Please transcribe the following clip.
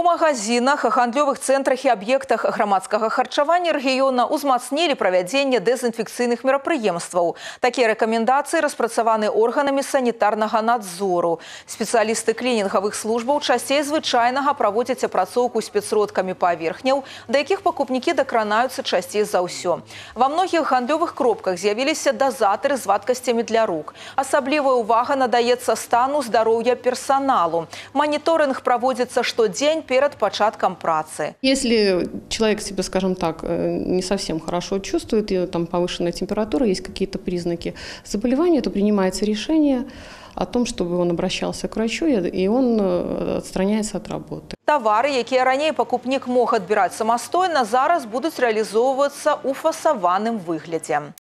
магазинах, гандлёвых цэнтрах і аб'ектах грамадскага харчавання рэгіёна узмацнілі правядзенне дэзінфекцыйных мерапрыемстваў. Такія рэкамендацыі распрацаваны органамі санітарнага надзору. Спецыялісты клінінгавых службаў часцей звычайнага праводзяць апрацоўку спецродкамі паверхняў, да якіх пакупнікі дакранаюцца часцей за ўсё. Ва многіх гандлёвых кропках з'явіліся дазатары з вадкасцямі для рук. Асаблівая ўвага надаецца стану здароўя персаналу. Маніторынг праводзіцца штодзень перед початком працы. Если человек себя, скажем так, не совсем хорошо чувствует, и там повышенная температура, есть какие-то признаки заболевания, то принимается решение о том, чтобы он обращался к врачу, и он отстраняется от работы. Товары, якія раней пакупнік мог адбіраць самастойна, зараз будуць рэалізоўвацца ў фасаваным выглядзе.